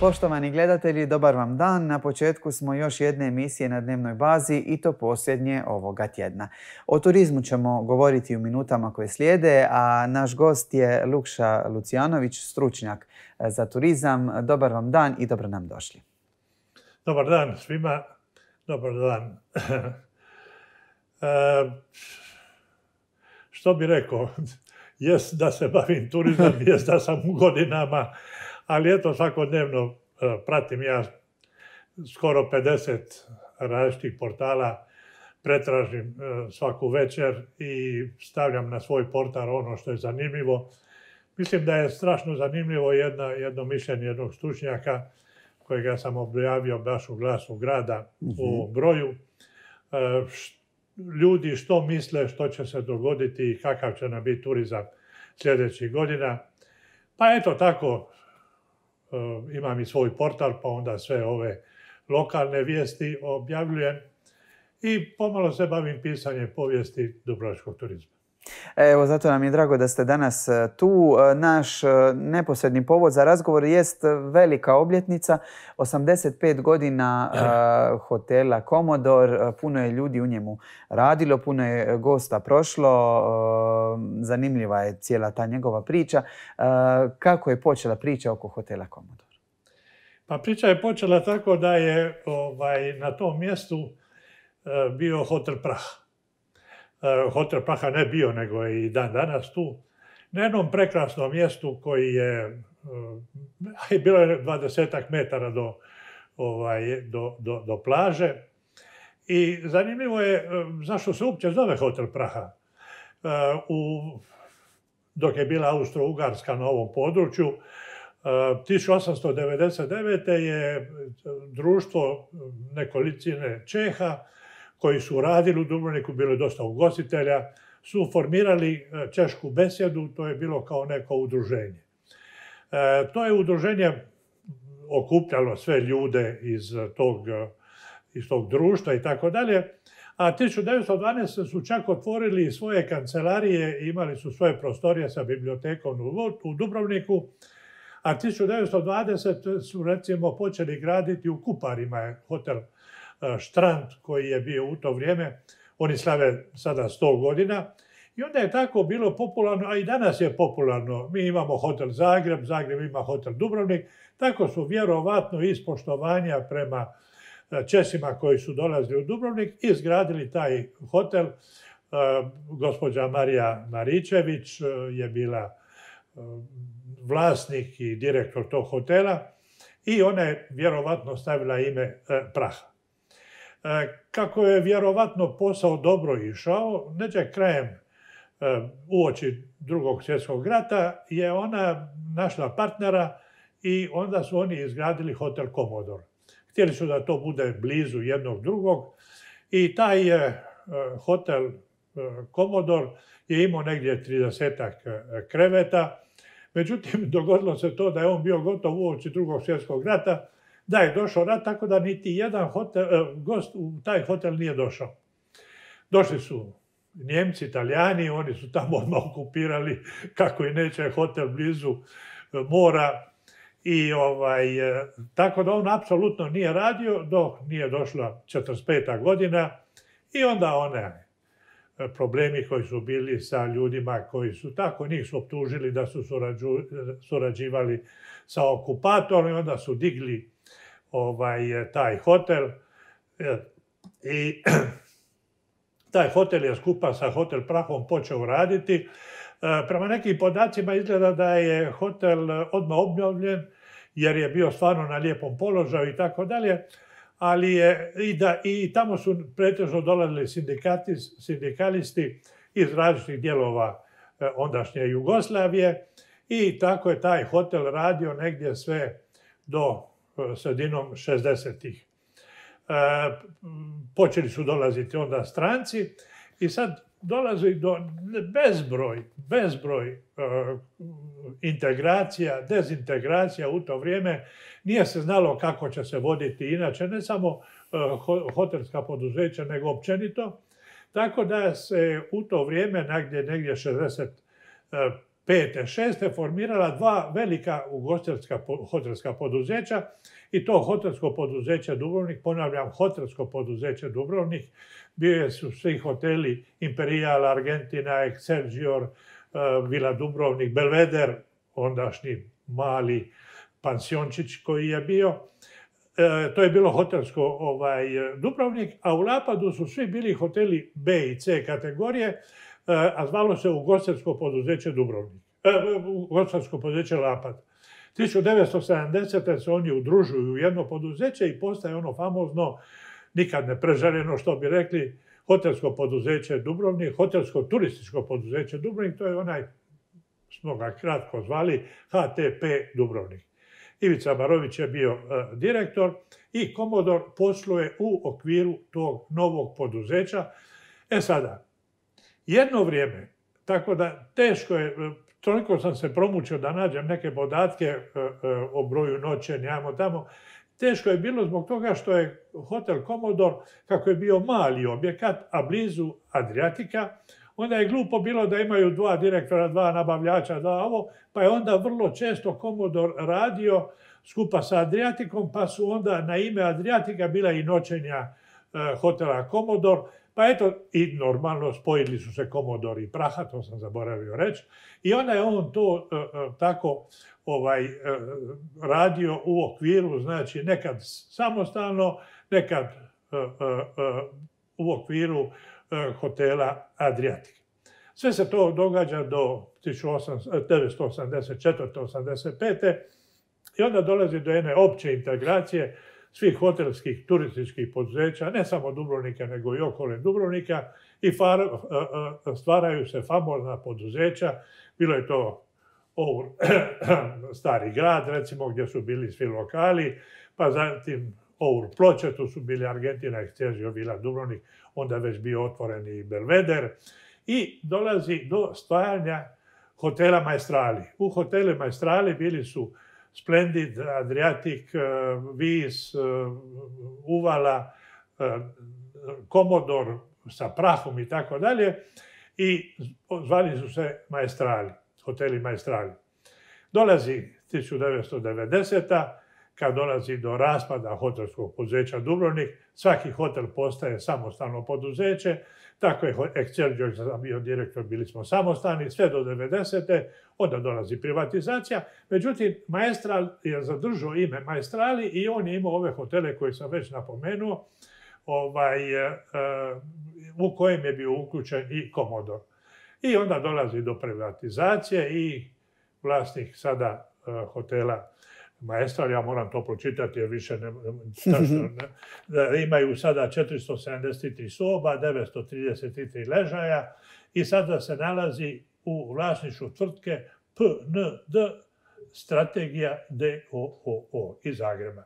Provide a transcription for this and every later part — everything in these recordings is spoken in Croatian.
Poštovani gledatelji, dobar vam dan. Na početku smo još jedne emisije na dnevnoj bazi i to posljednje ovoga tjedna. O turizmu ćemo govoriti u minutama koje slijede, a naš gost je Lukša Lucijanović, stručnjak za turizam. Dobar vam dan i dobro nam došli. Dobar dan svima. Dobar dan. Što bi rekao? Jest da se bavim turizam, jest da sam u godinama, ali eto svakodnevno pratim ja skoro 50 različitih portala, pretražim svaku večer i stavljam na svoj portal ono što je zanimljivo. Mislim da je strašno zanimljivo jedno mišljenje jednog stručnjaka kojega sam objavio baš u Glasu grada u broju. Ljudi što misle, što će se dogoditi i kakav će nam biti turizam sljedećih godina. Pa eto tako, imam i svoj portal, pa onda sve ove lokalne vijesti objavljujem i pomalo se bavim pisanjem povijesti dubrovačkog turizma. Evo, zato nam je drago da ste danas tu. Naš neposredni povod za razgovor jest velika obljetnica, 85 godina hotela Komodor. Puno je ljudi u njemu radilo, puno je gosta prošlo. Zanimljiva je cijela ta njegova priča. Kako je počela priča oko hotela Komodor? Pa priča je počela tako da je na tom mjestu bio hotel Praha. Hotel Praha ne bio, nego je i dan danas tu. Na jednom prekrasnom mjestu koji je, bilo je 20 metara do plaže. I zanimljivo je zašto se uopće zove hotel Praha. Dok je bila Austro-Ugarska na ovom području, 1899. je društvo nekolicine Čeha koji su radili u Dubrovniku, bilo je dosta ugostitelja, su formirali češku besjedu, to je bilo kao neko udruženje. To je udruženje okupljalo sve ljude iz tog društva i tako dalje, a 1912. su čak otvorili svoje kancelarije i imali su svoje prostorije sa bibliotekom u Dubrovniku, a 1920. su recimo počeli graditi u Kuparima hotel Štrand koji je bio u to vrijeme. Oni slave sada 100 godina. I onda je tako bilo popularno, a i danas je popularno. Mi imamo hotel Zagreb, Zagreb ima hotel Dubrovnik. Tako su vjerovatno iz poštovanja prema Česima koji su dolazili u Dubrovnik izgradili taj hotel. Gospođa Marija Maričević je bila vlasnik i direktor tog hotela i ona je vjerovatno stavila ime Praha. Kako je vjerovatno posao dobro išao, neđe krajem uoči Drugog svjetskog rata je ona našla partnera i onda su oni izgradili hotel Komodor. Htjeli su da to bude blizu jednog drugog i taj hotel Komodor je imao negdje 30 kreveta. Međutim, dogodilo se to da je on bio gotov uoči Drugog svjetskog rata, da je došao rat, tako da niti jedan gost u taj hotel nije došao. Došli su Njemci, Italijani, oni su tamo odmah okupirali kako i neće hotel blizu mora. I tako da on apsolutno nije radio dok nije došla 45. godina i onda one problemi koji su bili sa ljudima koji su tako, njih su optužili da su surađivali sa okupatorom i onda su digli taj hotel i taj hotel je skupa sa hotel Prahom počeo raditi. Prema nekim podacima izgleda da je hotel odmah obnovljen jer je bio stvarno na lijepom položaju i tako dalje, ali i tamo su pretežno dolazili sindikalisti iz različitih dijelova ondašnje Jugoslavije i tako je taj hotel radio negdje sve do sredinom 60-ih. Počeli su dolaziti onda stranci i sad dolazi do bezbroj integracija, dezintegracija u to vrijeme. Nije se znalo kako će se voditi inače, ne samo hotelska poduzeća, nego općenito. Tako da se u to vrijeme, negdje 65. 5. 6. formirala dva velika hotelska poduzeća i to hotelsko poduzeće Dubrovnik, ponavljam, hotelsko poduzeće Dubrovnik, bili su svi hoteli Imperial, Argentina, Excelsior, Vila Dubrovnik, Belvedere, ondašnji mali pansiončić koji je bio. To je bilo hotelsko Dubrovnik, a u Lapadu su svi bili hoteli B i C kategorije, a zvalo se ugostiteljsko poduzeće Dubrovnik, ugostiteljsko poduzeće Lapad. 1970. se oni udružuju u jedno poduzeće i postaje ono famozno, nikad ne prežaljeno, što bi rekli, hotelsko poduzeće Dubrovnik, hotelsko turističko poduzeće Dubrovnik, to je onaj, smo ga kratko zvali, HTP Dubrovnik. Ivica Barović je bio direktor i Komodor posluje u okviru tog novog poduzeća. Sada, jedno vrijeme, tako da teško je, toliko sam se promučio da nađem neke podatke o broju noćenja, tamo. Teško je bilo zbog toga što je hotel Komodor, kako je bio mali objekat, a blizu Adriatika, onda je glupo bilo da imaju dva direktora, dva nabavljača, pa je onda vrlo često Komodor radio skupa sa Adriatikom, pa su onda na ime Adriatika bila i noćenja hotela Komodor, pa eto, i normalno spojili su se Komodor i Praha, to sam zaboravio reći, i onda je on to tako radio u okviru, znači nekad samostalno, nekad u okviru hotela Adriatik. Sve se to događa do 1984. 85. i onda dolazi do jedne opće integracije svih hotelskih, turističkih poduzeća, ne samo Dubrovnika, nego i okolnih Dubrovnika, i stvaraju se famozna poduzeća. Bilo je to Stari grad, recimo, gdje su bili svi lokali, pa zatim Ploče, tu su bili Argentina, Excelsior, Vila Dubrovnik, onda već bio otvoren i Belvedere, i dolazi do stvaranja hotela Maestrali. U hotelu Maestrali bili su Splendid, Adriatic, Vis, Uvala, Komodor sa Prahom i tako dalje, i zvali su se Maestrali, hoteli Maestrali. Dolazi 1990. Kad dolazi do raspada hotelskog poduzeća Dubrovnik, svaki hotel postaje samostalno poduzeće, tako je Excelsior, sam bio direktor, bili smo samostalni, sve do 90. Onda dolazi privatizacija. Međutim, Maestral je zadržao ime Maestrali i on je imao ove hotele koje sam već napomenuo, u kojem je bio uključen i Komodor. I onda dolazi do privatizacije i vlasnik sada hotela Maestral, ja moram to pročitati jer više imaju sada 473 soba, 933 ležaja i sada se nalazi u vlasništvu tvrtke PND Strategija d.o.o. iz Zagreba.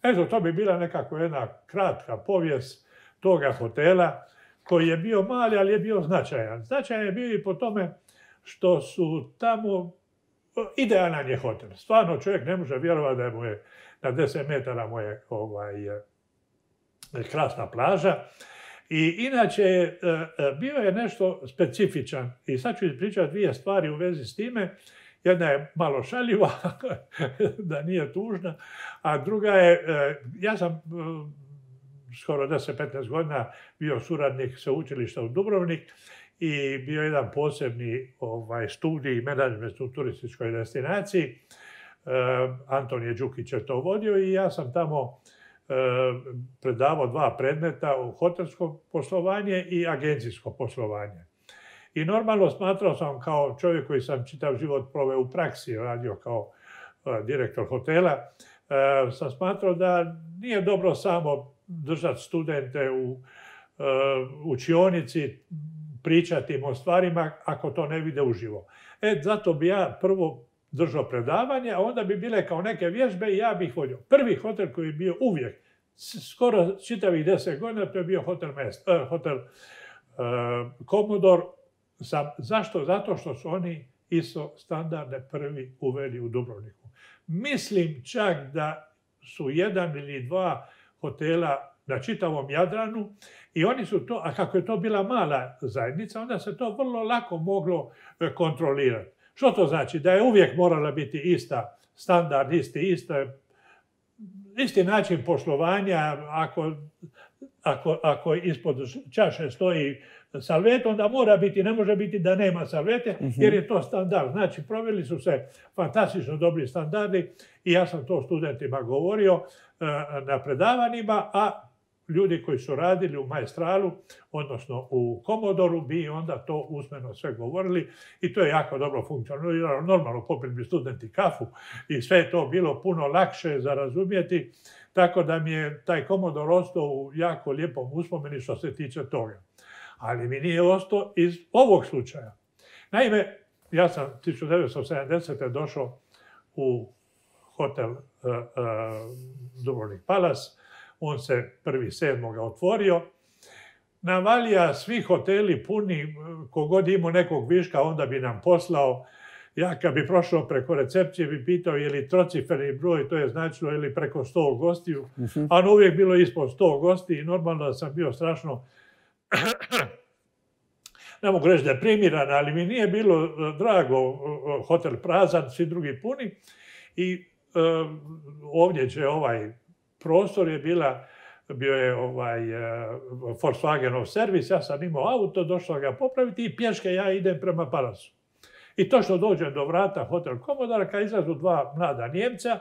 Eto, to bi bila nekako jedna kratka povijest toga hotela koji je bio mali, ali je bio značajan. Značajan je bio i po tome što su tamo idealan je hotel. Stvarno čovjek ne može vjerovati da mu je na 10 metara mu je krasna plaža. I inače, bio je nešto specifičan. I sad ću ispričati dvije stvari u vezi s time. Jedna je malo šaljiva, da nije tužna, a druga je, ja sam skoro 10-15 godina bio suradnik sveučilišta u Dubrovnik i bio jedan posebni studij menadžment u turističkoj destinaciji. Antonije Đukić je to vodio i ja sam tamo predavao dva predmeta u hotelsko poslovanje i agencijsko poslovanje. I normalno smatrao sam kao čovjek koji sam čitav život proveo u praksi, radio kao direktor hotela, sam smatrao da nije dobro samo držati studente u učionici, pričati im o stvarima ako to ne vide uživo. Zato bi ja prvo držao predavanje, a onda bi bile kao neke vježbe i ja bih vodio. Prvi hotel koji je bio uvijek, skoro čitavih 10 godina, to je bio hotel Komodor. Zašto? Zato što su oni ISO standarde prvi uveli u Dubrovniku. Mislim čak da su jedan ili dva hotela na čitavom Jadranu i oni su to, a kako je to bila mala zajednica, onda se to vrlo lako moglo kontrolirati. Što to znači? Da je uvijek morala biti ista standard, isti način poslovanja. Ako ispod čaše stoji salvet, onda mora biti, ne može biti da nema salvete, jer je to standard. Znači, proveli su se fantastično dobri standardi i ja sam to studentima govorio na predavanjima, a ljudi koji su radili u Maestralu, odnosno u Komodoru, bi onda to usmeno sve govorili i to je jako dobro funkcioniralo. Normalno popili bi studenti kafu i sve je to bilo puno lakše za razumjeti, tako da mi je taj Komodor ostao u jako lijepom uspomeni što se tiče toga. Ali mi nije ostao iz ovog slučaja. Naime, ja sam 1970. došao u hotel Dubrovnik Palace. On se 1.7. otvorio. Navalija svi hoteli puni, kogod imao nekog viška, onda bi nam poslao. Ja kad bi prošao preko recepcije bi pitao je li trociferni broj, to je značilo je li preko 100 gostiju, a uvijek bilo ispod 100 gosti i normalno da sam bio strašno, ne mogu reći deprimiran, ali mi nije bilo drago, hotel prazan, svi drugi puni i ovdje će ovaj prostor bio je Volkswagenov servis, ja sam imao auto, došao ga popraviti i pješke ja idem prema Palacu. I to što dođem do vrata Hotel Komodora, kad izlazu dva mlada Njemca,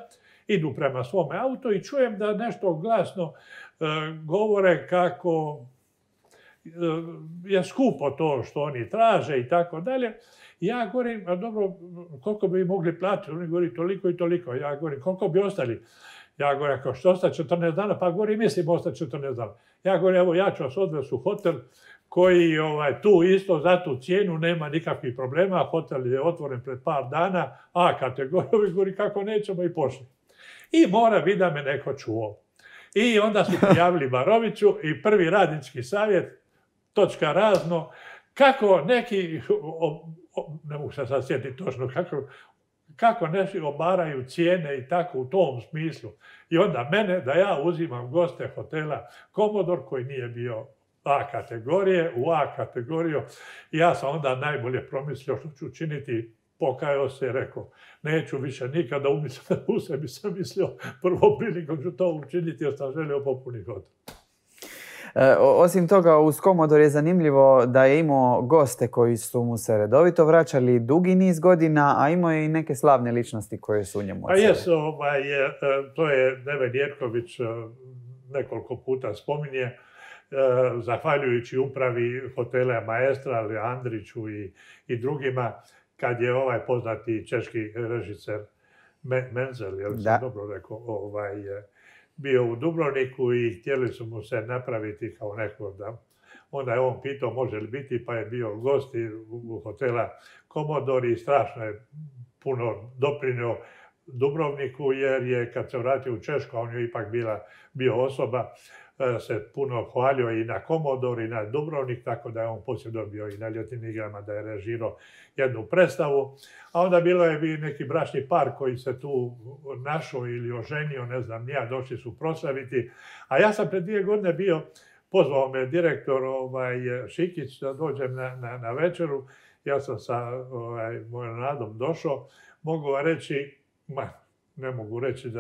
idu prema svome auto i čujem da nešto glasno govore kako je skupo to što oni traže i tako dalje. Ja govorim, a dobro, koliko bi mogli platiti? Oni govori toliko i toliko. Ja govorim, koliko bi ostali? Ja govorim, ako što ostati 14 dana, pa govorim, mislim ostati 14 dana. Ja govorim, evo, ja ću vas odvesti u hotel koji tu isto za tu cijenu nema nikakvih problema. Hotel je otvoren pred par dana, A kategorija, govori, kako nećemo i pošli. I mora biti da me neko čuo. I onda su prijavili Baroviću i prvi radnički savjet, točka razno, kako neki, ne mogu se sad sjetiti točno, kako neki obaraju cijene i tako u tom smislu. I onda mene, da ja uzimam goste hotela Komodor koji nije bio A kategorije, u A kategoriju. Ja sam onda najbolje promislio što ću učiniti, pokajao se i rekao, neću više nikada u sebi sam mislio prvo prilikom ću to učiniti jer sam želio popuniti hotel. Osim toga, uz Komodor je zanimljivo da je imao goste koji su mu se redovito vraćali dugi niz godina, a imao je i neke slavne ličnosti koje su u njemu odsjeli. To je Neven Jerković nekoliko puta spominje, zahvaljujući upravi hotela Maestral, Andriću i drugima, kad je ovaj poznati češki režiser Menzel, jel sam dobro rekao, bio u Dubrovniku i htjeli su mu se napraviti kao neko da... Onda je on pitao može li biti, pa je bio gost u hotela Komodor i strašno je puno doprinio Dubrovniku, jer je kad se vratio u Češku, a on je ipak bio osoba, se puno hvalio i na Komodor i na Dubrovnik, tako da je on poslije dobio i na ljetnim igrama da je režirao jednu predstavu. A onda bilo je neki bračni par koji se tu našao ili oženio, ne znam, nija, došli su proslaviti. A ja sam pred 2 godine bio, pozvao me direktor Šikić da dođem na večeru. Ja sam sa mojom Nadom došao. Mogu vam reći, ne mogu reći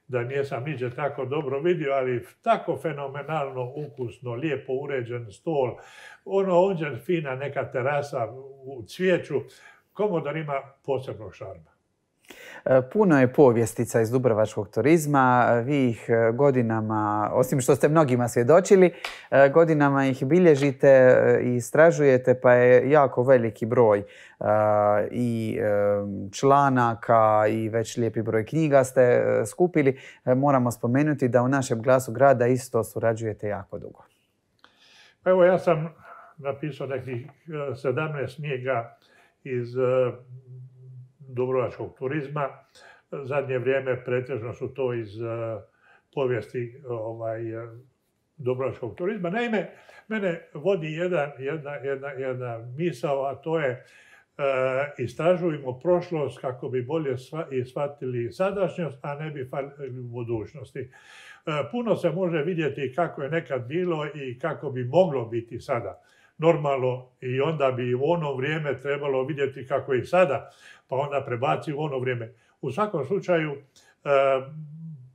da nisam niđe tako dobro vidio, ali tako fenomenalno ukusno, lijepo uređen stol, onđe fina neka terasa u cvijeću. Komodor ima posebnog šarma. Puno je povjestica iz dubrovačkog turizma. Vi ih godinama, osim što ste mnogima svjedočili, godinama ih bilježite i istražujete, pa je jako veliki broj i članaka i već lijepi broj knjiga ste skupili. Moramo spomenuti da u našem Glasu grada isto surađujete jako dugo. Evo, ja sam napisao nekih 17 knjiga iz dubrovačkog turizma. Zadnje vrijeme pretežno su to iz povijesti dubrovačkog turizma. Naime, mene vodi jedna misao, a to je istražujemo prošlost kako bi bolje shvatili sadašnjost, a ne bi falili u budućnosti. Puno se može vidjeti kako je nekad bilo i kako bi moglo biti sada. normalno i onda bi u ono vrijeme trebalo vidjeti kako je i sada, pa onda prebaci u ono vrijeme. U svakom slučaju,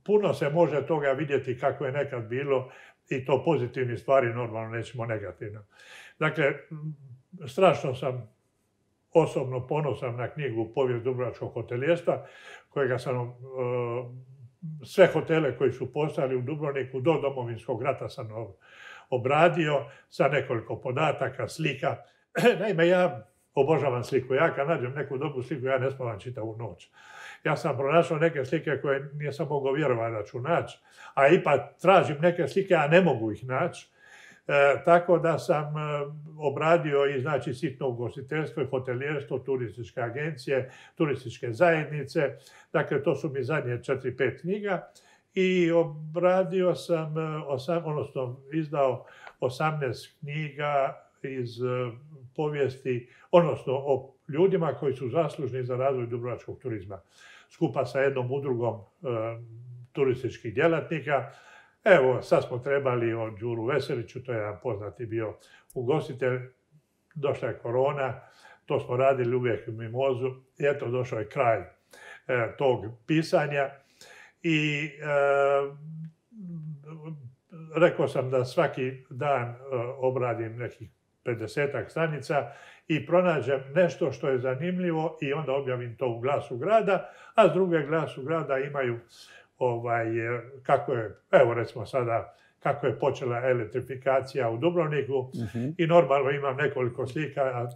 puno se može toga vidjeti kako je nekad bilo i to pozitivni stvari, normalno nećemo negativno. Dakle, strašno sam osobno ponosan na knjigu Povijest dubrovačkog hotelijerstva, kojega sam sve hotele koji su postojali u Dubrovniku do Domovinskog rata sam obradio sa nekoliko podataka, slika. Naime, ja obožavam sliku. Ja kad nađem neku dobru sliku, ja ne spavam čitavu noć. Ja sam pronašao neke slike koje nisam mogao vjerovati da ću naći, a ipak tražim neke slike, a ne mogu ih naći. Tako da sam obradio i znači sitno ugostiteljstvo i hotelijerstvo, turističke agencije, turističke zajednice. Dakle, to su mi zadnje 4-5 knjiga. I obradio sam, odnosno izdao 18 knjiga iz povijesti, odnosno o ljudima koji su zaslužni za razvoj dubrovačkog turizma. Skupa sa jednom udrugom turističkih djelatnika. Evo, sad smo trebali o Đuru Veseliću, to je jedan poznati bio ugostitelj. Došla je korona, to smo radili uvijek u mimozu i eto, došao je kraj tog pisanja. I rekao sam da svaki dan obradim nekih 50-ak stranica i pronađem nešto što je zanimljivo i onda objavim to u Glasu grada, a s druge Glasu grada imaju kako je, evo recimo sada, kako je počela elektrifikacija u Dubrovniku i normalno imam nekoliko slika, a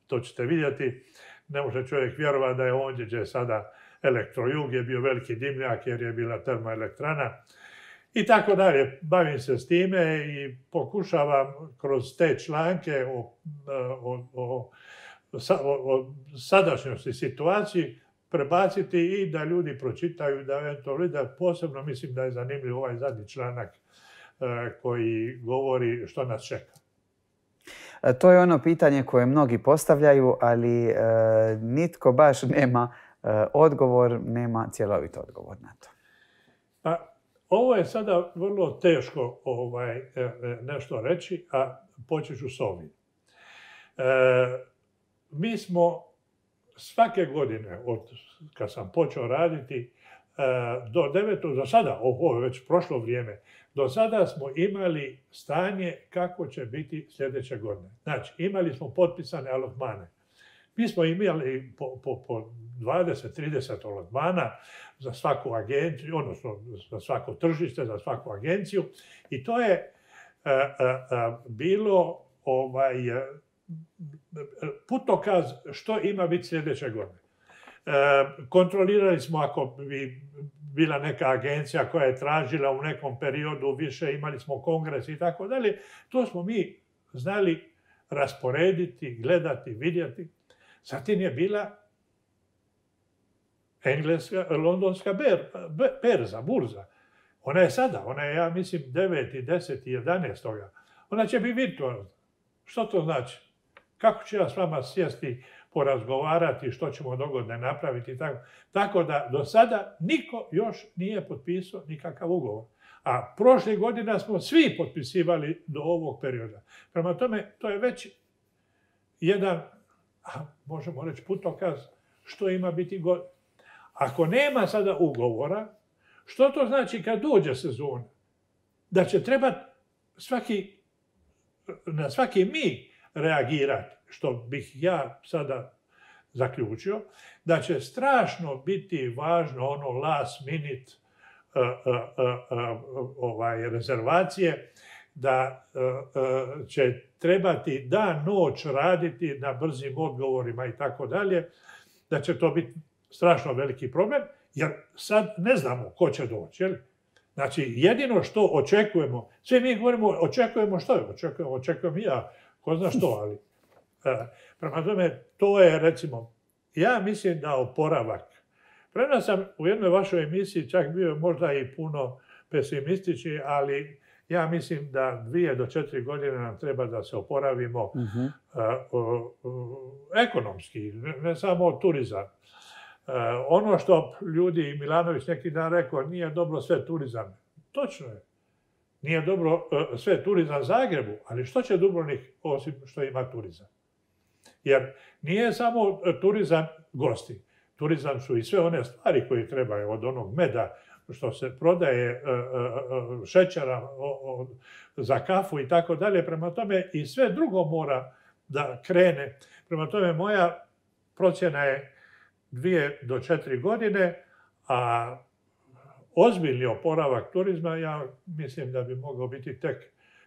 to ćete vidjeti. Ne može čovjek vjerovati da je ondje gdje je sada Elektrojug, je bio veliki dimnjak jer je bila termoelektrana i tako dalje. Bavim se s time i pokušavam kroz te članke o sadašnjosti situaciji prebaciti i da ljudi pročitaju, da eventualno da posebno mislim da je zanimljiv ovaj zadnji članak koji govori što nas čeka. To je ono pitanje koje mnogi postavljaju, ali nitko baš nema odgovor, nema cjelovit odgovor na to. Pa, ovo je sada vrlo teško nešto reći, a počet ću s ovim. Mi smo svake godine, od kad sam počeo raditi, do sada, ovo je već prošlo vrijeme, do sada smo imali stanje kako će biti sljedeće godine. Znači, imali smo potpisane alotmane. Mi smo imali po 20-30 alotmana za svaku agenciju, odnosno za svako tržište, za svaku agenciju. I to je bilo putokaz što ima biti sljedeće godine. Kontrolirali smo ako bi bila neka agencija koja je tražila u nekom periodu više, imali smo kongres i tako dalje. To smo mi znali rasporediti, gledati, vidjeti. Zatim je bila londonska berza, burza. Ona je sada, ona je, ja mislim, 9. 10. 11. Ona će biti virtualna. Što to znači? Kako ću ja s vama sjesti, porazgovarati, što ćemo dogodne napraviti i tako. Tako da do sada niko još nije potpisao nikakav ugovor. A prošle godina smo svi potpisivali do ovog perioda. Prema tome, to je već jedan, možemo reći, putokaz što ima biti godina. Ako nema sada ugovora, što to znači kad dođe sezona? Da će trebati na svaki mig reagirati, što bih ja sada zaključio, da će strašno biti važno ono last minute rezervacije, da će trebati dan, noć raditi na brzim odgovorima i tako dalje, da će to biti strašno veliki problem, jer sad ne znamo ko će doći. Jel? Znači, jedino što očekujemo, svi mi govorimo, očekujemo što je? Očekujem ja, ko zna što, ali prema tome, to je, recimo, ja mislim da oporavak. Prema sam u jednoj vašoj emisiji čak bio možda i puno pesimistični, ali ja mislim da 2 do 4 godine nam treba da se oporavimo ekonomski, ne samo turizam. Ono što ljudi, Milanović neki dan rekao, nije dobro sve turizam. Točno je. Nije dobro sve turizam Zagrebu, ali što će Dubrovnik osim što ima turizam? Jer nije samo turizam gosti. Turizam su i sve one stvari koje trebaju, od onog meda što se prodaje, šećera za kafu i tako dalje. Prema tome i sve drugo mora da krene. Prema tome moja procjena je 2 do 4 godine, a ozbiljni oporavak turizma ja mislim da bi mogao biti tek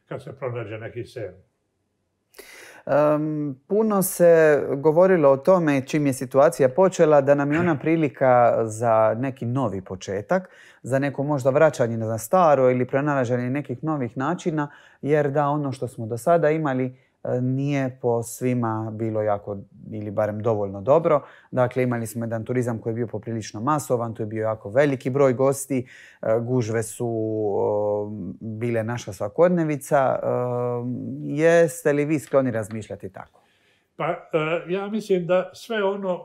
kad se pronađe neki sen. Puno se govorilo o tome čim je situacija počela da nam je ona prilika za neki novi početak, za neko možda vraćanje na staro ili pronalaženje nekih novih načina, jer da ono što smo do sada imali nije po svima bilo jako ili barem dovoljno dobro. Dakle, imali smo jedan turizam koji je bio poprilično masovan, tu je bio jako veliki broj gosti, gužve su bile naša svakodnevica. Jeste li vi skloni razmišljati tako? Pa ja mislim da sve ono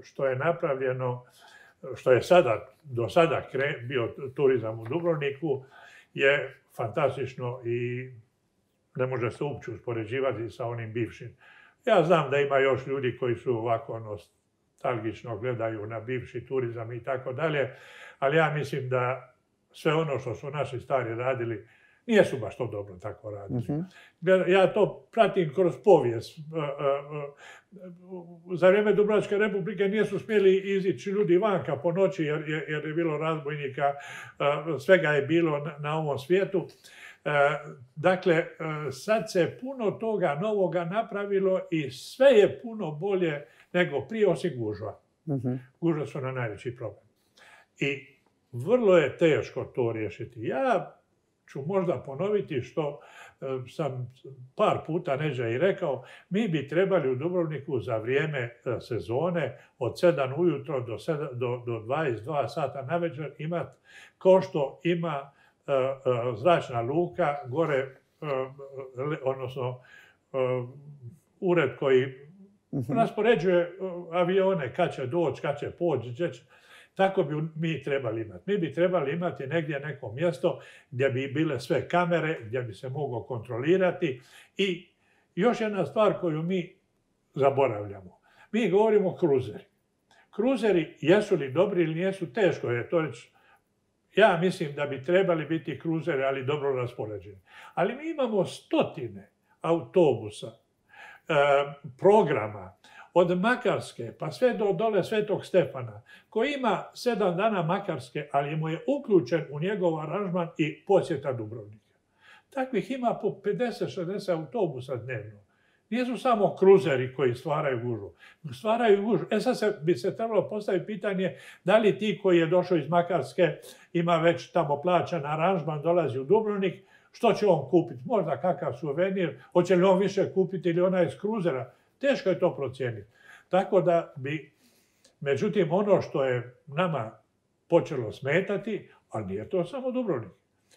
što je napravljeno, što je do sada bio turizam u Dubrovniku, je fantastično i ne može se uopće uspoređivati sa onim bivšim. Ja znam da ima još ljudi koji su ovako nostalgično gledaju na bivši turizam i tako dalje, ali ja mislim da sve ono što su naši stari radili, nije su baš to dobro tako radili. Ja to pratim kroz povijest. Za vrijeme Dubrovačke republike nisu smjeli izići ljudi vanka po noći jer je bilo razbojnika, svega je bilo na ovom svijetu. Dakle, sad se puno toga novoga napravilo i sve je puno bolje nego prije, osim gužva. Gužva su na najveći problem. I vrlo je teško to riješiti. Ja ću možda ponoviti što sam par puta neđe i rekao, mi bi trebali u Dubrovniku za vrijeme sezone od 7 ujutro do 22 sata navečer imati kao što ima zračna luka, gore, odnosno ured koji raspoređuje avione, kad će doći, kad će poći, tako bi mi trebali imati. Mi bi trebali imati negdje neko mjesto gdje bi bile sve kamere, gdje bi se moglo kontrolirati. I još jedna stvar koju mi zaboravljamo. Mi govorimo o kruzeri. Kruzeri, jesu li dobri ili nijesu, teško je to reći. Ja mislim da bi trebali biti kruzeri, ali dobro raspoređeni. Ali mi imamo stotine autobusa, programa, od Makarske pa sve do dole Svetog Stefana, koji ima 7 dana Makarske, ali mu je uključen u njegov aranžman i posjeta Dubrovnika. Takvih ima po 50-60 autobusa dnevno. Nisu samo kruzeri koji stvaraju gužvu. Stvaraju gužvu. Sad bi se trebalo postaviti pitanje da li ti koji je došao iz Makarske ima već tamo plaćan aranžman, dolazi u Dubrovnik, što će on kupiti? Možda kakav suvenir, hoće li on više kupiti ili ona iz kruzera? Teško je to procijeniti. Tako da bi, međutim, ono što je nama počelo smetati, ali nije to samo Dubrovnik.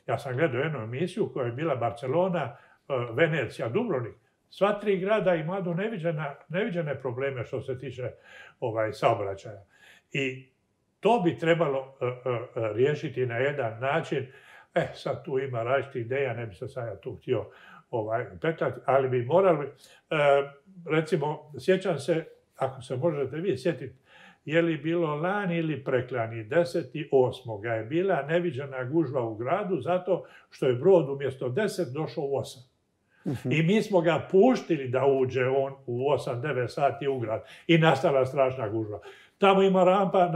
Ja sam gledao jednu emisiju koja je bila Barcelona, Venecija, Dubrovnik. Sva 3 grada imaju neviđene probleme što se tiče saobraćaja. I to bi trebalo riješiti na jedan način. Sad tu ima različitih ideja, ne bi se sad ja tu htio petati, ali bi morali, recimo, sjećam se, ako se možete vi sjetiti, je li bilo lani ili preklani, 10.8. je bila neviđena gužva u gradu zato što je brod umjesto 10 došao u 8. I mi smo ga puštili da uđe on u 8-9 sati u grad i nastala strašna gužva. Tamo ima rampa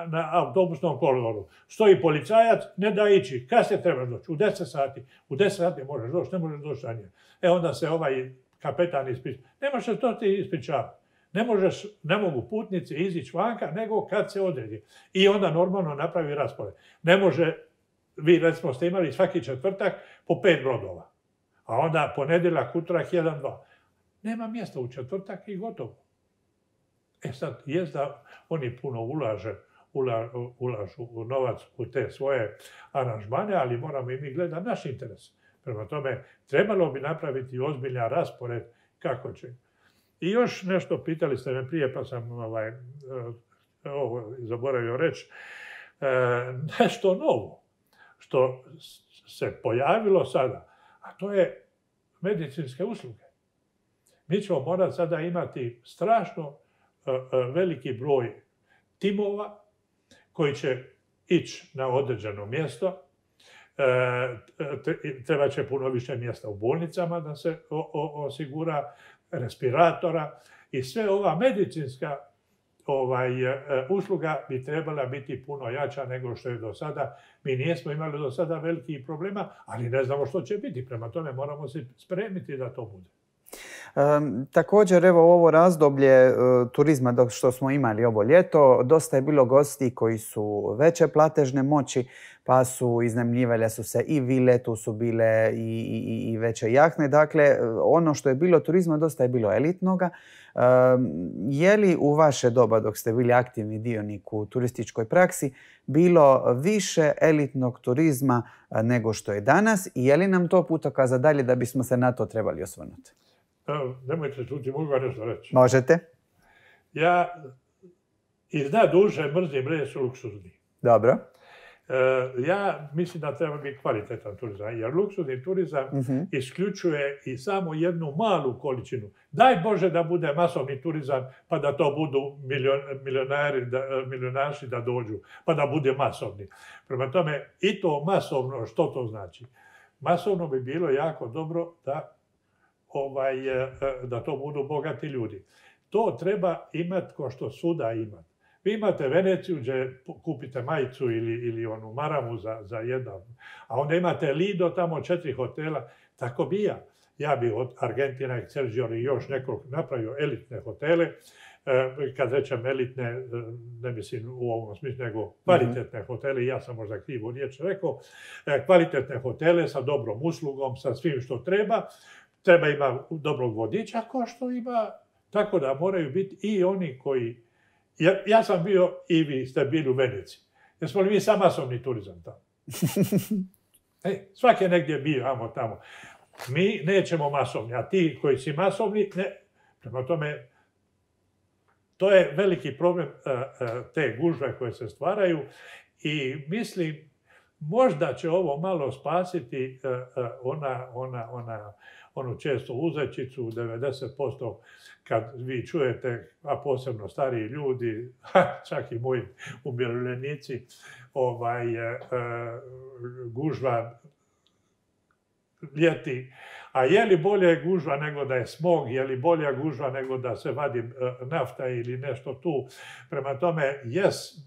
na autobusnom koloru. Stoji policajac, ne da ići. Kad se treba doći? U 10 sati. U 10 sati možeš doći, ne možeš doći ranije. Onda se ovaj kapetan ispriča. Ne možeš to ti ispričavati. Ne mogu putnici izići vanka, nego kad se odredi. I onda normalno napravi raspored. Ne može, vi recimo ste imali svaki četvrtak po 5 brodova. A onda ponedjeljak, utorak, 1-2. Nema mjesta u četvrtak i gotovo. Sad, jest da oni puno ulažu u novac u te svoje aranžmane, ali moramo i mi gledati naš interes. Prema tome, trebalo bi napraviti ozbiljan raspored kako će. I još nešto, pitali ste me prije, pa sam zaboravio reći, nešto novo. što se pojavilo sada, a to je medicinske usluge. Mi ćemo morati sada imati strašno veliki broj timova koji će ići na određeno mjesto. Treba će puno više mjesta u bolnicama da se osigura, respiratora i sve ova medicinska usluga bi trebala biti puno jača nego što je do sada. Mi nismo imali do sada velikih problema, ali ne znamo što će biti. Prema tome moramo se spremiti da to bude. Također, evo ovo razdoblje turizma dok što smo imali ovo ljeto, dosta je bilo gosti koji su veće platežne moći, pa su iznajmljivale su se i vile, tu su bile i veće jahne. Dakle, ono što je bilo turizma dosta je bilo elitnoga. Je li u vaše doba, dok ste bili aktivni dionik u turističkoj praksi, bilo više elitnog turizma nego što je danas i je li nam to putokaza dalje da bismo se na to trebali osvrnuti? Nemojte čuti, mogu vam nešto reći. Možete. Ja iznad duše mrzim reč luksuzni. Dobro. Ja mislim da treba biti kvalitetan turizam, jer luksuzni turizam isključuje i samo jednu malu količinu. Daj Bože da bude masovni turizam, pa da to budu milionaši da dođu, pa da bude masovni. Prema tome, i to masovno, što to znači? Masovno bi bilo jako dobro da to budu bogati ljudi. To treba imati ko što svuda ima. Vi imate Veneciju gdje kupite majicu ili onu maramu za jedan, a onda imate Lido, tamo 4 hotela, tako bi ja. Ja bi od Argentina, Excelsior i još nekog napravio elitne hotele. Kad rečem elitne, ne mislim u ovom smislu, nego kvalitetne hotele, ja sam možda krivu riječ rekao, kvalitetne hotele sa dobrom uslugom, sa svim što treba. Treba ima dobrog vodiča, ko što ima, tako da moraju biti i oni koji... Ja sam bio i vi ste bili u Veneciji. Jesmo li mi sam masovni turizam tamo? Svaki je negdje bio, amo tamo. Mi nećemo masovni, a ti koji si masovni, ne. Prema tome, to je veliki problem te gužve koje se stvaraju i mislim, možda će ovo malo spasiti onu često uzećicu, 90% kad vi čujete, a posebno stariji ljudi, čak i moji umirovljenici, gužva ljeti. A je li bolje gužva nego da je smog, je li bolja gužva nego da se vadi nafta ili nešto tu. Prema tome,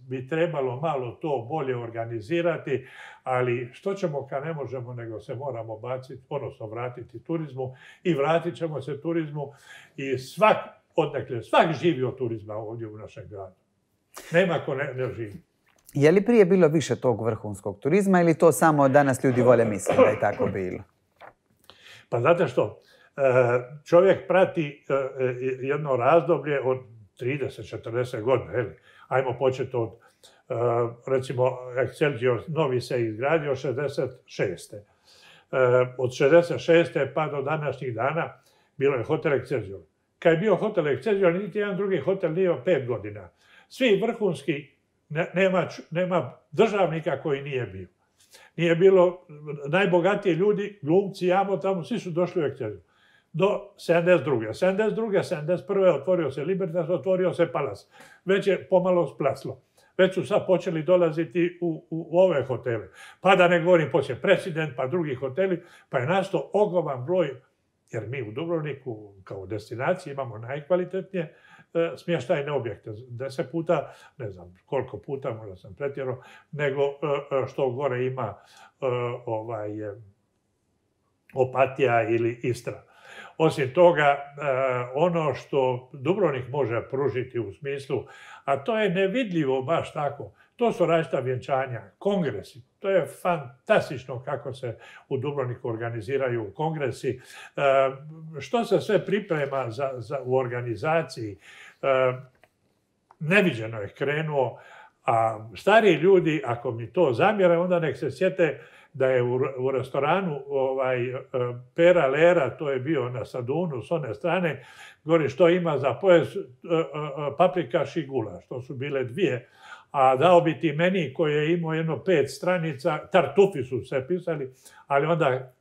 bi trebalo malo to bolje organizirati, ali što ćemo kad ne možemo, nego se moramo baciti, odnosno vratiti turizmu i vratit ćemo se turizmu i svak živi od turizma ovdje u našem gradu. Nema ko ne živi. Je li prije bilo više tog vrhunskog turizma ili to samo danas ljudi vole misliti da je tako bilo? Pa znate što, čovjek prati jedno razdoblje od 30-40 godina. Ajmo početi od, recimo, Excelsior novi se izgradio 66. Od 66. pa do današnjih dana bilo je hotel Excelsior. Kad je bio hotel Excelsior, niti jedan drugi hotel nije 5 godina. Svi vrhunski, nema državnika koji nije bio. Nije bilo najbogatiji ljudi, glumci, tamo, svi su došli u Excelsior. Do 72. 71. otvorio se Libertas, otvorio se Palace. Već je pomalo splaslo. Već su sad počeli dolaziti u ove hotele. Pa da ne govorim poslije President, pa drugi hoteli, pa je nastao ogroman broj, jer mi u Dubrovniku kao destinaciji imamo najkvalitetnije smještajne objekte. 10 puta, ne znam koliko puta, možda sam pretjerao, nego što gore ima Opatija ili Istra. Osim toga, ono što Dubrovnik može pružiti u smislu, a to je nevidljivo baš tako, to su različita vjenčanja, kongresi. To je fantastično kako se u Dubrovniku organiziraju kongresi. Što se sve priprema u organizaciji, neviđeno je krenuo, a stariji ljudi, ako mi to zamjere, onda nek se sjete da je u restoranu Pera Lera, to je bio na Sadunu s one strane, govori što ima za pojas paprikaš i gulaš. To su bile dvije a dao bi ti meni koji je imao jedno 5 stranica, tartufi su se pisali, ali onda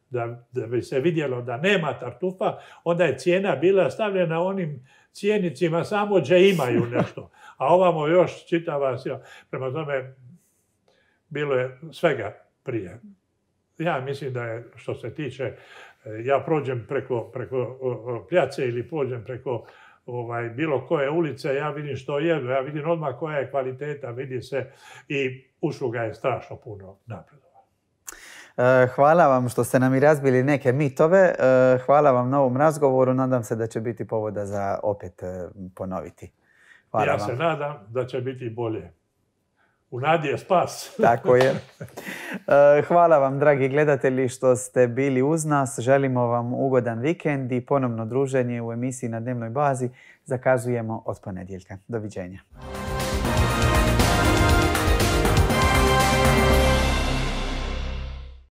da bi se vidjelo da nema tartufa, onda je cijena bila stavljena onim cijenicima samo gdje imaju nešto. A ovamo još čitava sila. Prema tome, bilo je svega prije. Ja mislim da je, što se tiče, ja prođem preko Pljace ili prođem preko bilo koje ulice, ja vidim što jedu, ja vidim odmah koja je kvaliteta, vidi se i usluga je strašno puno napredovala. Hvala vam što ste nam i razbili neke mitove. Hvala vam na ovom razgovoru. Nadam se da će biti povoda za opet ponoviti. Hvala ja vam. Se nadam da će biti bolje. U nadi je spas. Tako je. Hvala vam, dragi gledatelji, što ste bili uz nas. Želimo vam ugodan vikend i ponovno druženje u emisiji Na dnevnoj bazi zakazujemo od ponedjeljka. Doviđenja.